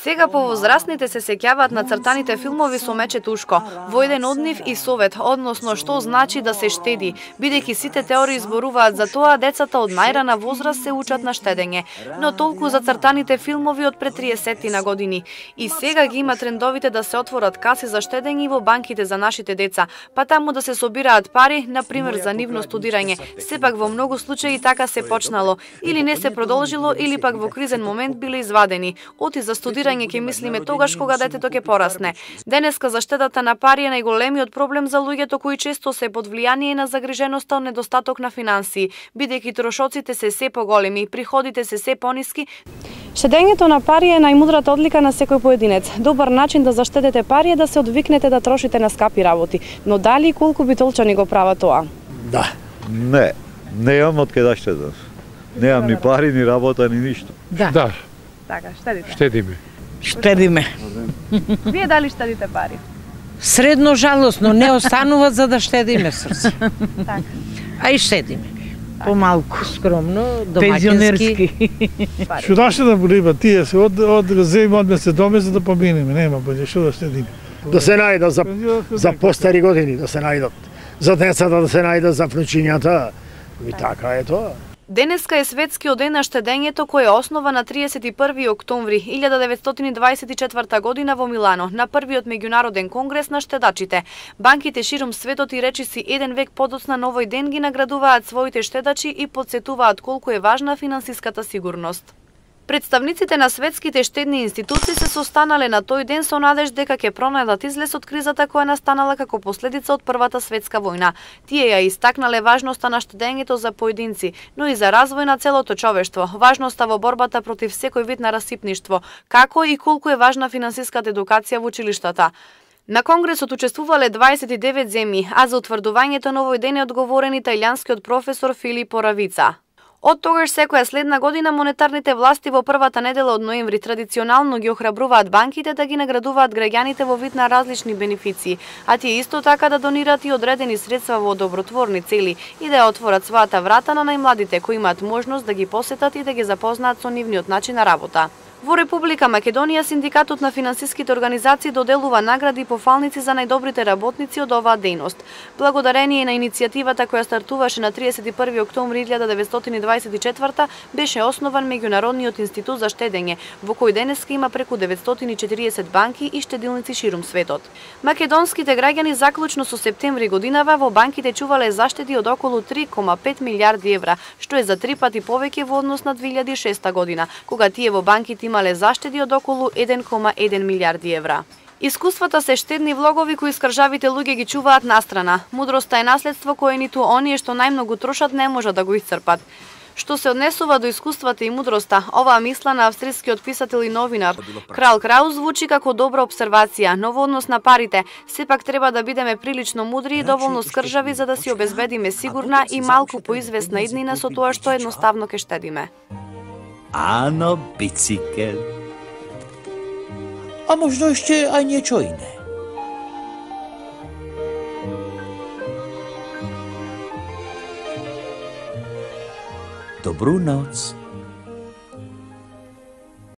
Сега повозрастните се сеќаваат на цртаните филмови со Мече Тушко, во еден од нив и совет, односно што значи да се штеди, бидејќи сите теории зборуваат за тоа децата од најрана возраст се учат на штедење, но толку за цртаните филмови од пред 30 на години. И сега ги има трендовите да се отворат каси за штедење во банките за нашите деца, па таму да се собираат пари, на пример за нивно студирање. Сепак во многу случаи така се почнало, или не се продолжило, или пак во кризен момент биле извадени. Оти за студирање ќе мислиме тогаш кога детето ќе порасне. Денеска заштедата на пари е најголемиот проблем за луѓето кои често се под влијание на загриженоста од недостаток на финансии, бидејќи трошоците се поголеми, приходите се пониски. Штедењето на пари е најмудрата одлика на секој поединец. Добар начин да заштедете пари е да се одвикнете да трошите на скапи работи. Но дали и колку битолчани го прават тоа? Да. Не имам од кај да штедам. Немам ни пари, ни работа, ни ништо. Да. Така, штедите. Штедиме. Вие дали штедите пари? Средно жалосно, не остануваат за да штедиме срце. Така. А и штедиме. Помалку, скромно, домаќински. Што да штедам риба, тие се од земе одме се доме за да поминеме, нема боље што да штедиме. Да се најдат за постари години, да се најдат. За децата да се најдат, за внучињата. И така е тоа. Денеска е светскиот ден на штедењето кој е основа на 31 октомври 1924 година во Милано, на првиот меѓународен конгрес на штедачите. Банките широм светот и речиси еден век подоцна на овој ден ги наградуваат своите штедачи и потсетуваат колку е важна финансиската сигурност. Представниците на светските штедни институции се состанале на тој ден со надеж дека ќе пронајдат излез од кризата која настанала како последица од Првата светска војна. Тие ја истакнале важноста на штедењето за поединци, но и за развој на целото човештво, важноста во борбата против секој вид на расипништво, како и колку е важна финансиската едукација во училиштата. На конгресот учествувале 29 земји, а за утврдувањето на овој ден е одговорен италијанскиот професор Филипо Равица. Од тогаш секоја следна година монетарните власти во првата недела од ноември традиционално ги охрабруваат банките да ги наградуваат граѓаните во вид на различни бенефиции, а тие исто така да донираат и одредени средства во добротворни цели и да ја отворат својата врата на најмладите кои имаат можност да ги посетат и да ги запознаат со нивниот начин на работа. Во Република Македонија синдикатот на финансиските организации доделува награди и пофалници за најдобрите работници од оваа дејност. Благодарение на иницијативата која стартуваше на 31 октомври 1924 беше основан Меѓународниот институт за штедење, во кој денеска има преку 940 банки и штедилници ширум светот. Македонските граѓани заклучно со септември годинава во банките чувале заштеди од околу 3,5 милијарди евра, што е за 3 пати повеќе во однос на 2006 година, кога тие во банките имале заштеди од околу 1,1 милијарди евра. Искуствата се штедни влогови кои скржавите луѓе ги чуваат настрана. Мудроста е наследство кое ниту оние што најмногу трошат не можат да го исцрпат. Што се однесува до искуствата и мудроста, оваа мисла на австрискиот писател и новинар Крал Крау звучи како добра обсервација, но во однос на парите, сепак треба да бидеме прилично мудри и доволно скржави за да си обезбедиме сигурна и малку поизвестна иднина со тоа што едноставно ке штедиме. Ano, bicikl. A možno ešte aj niečo iné. Dobrú noc.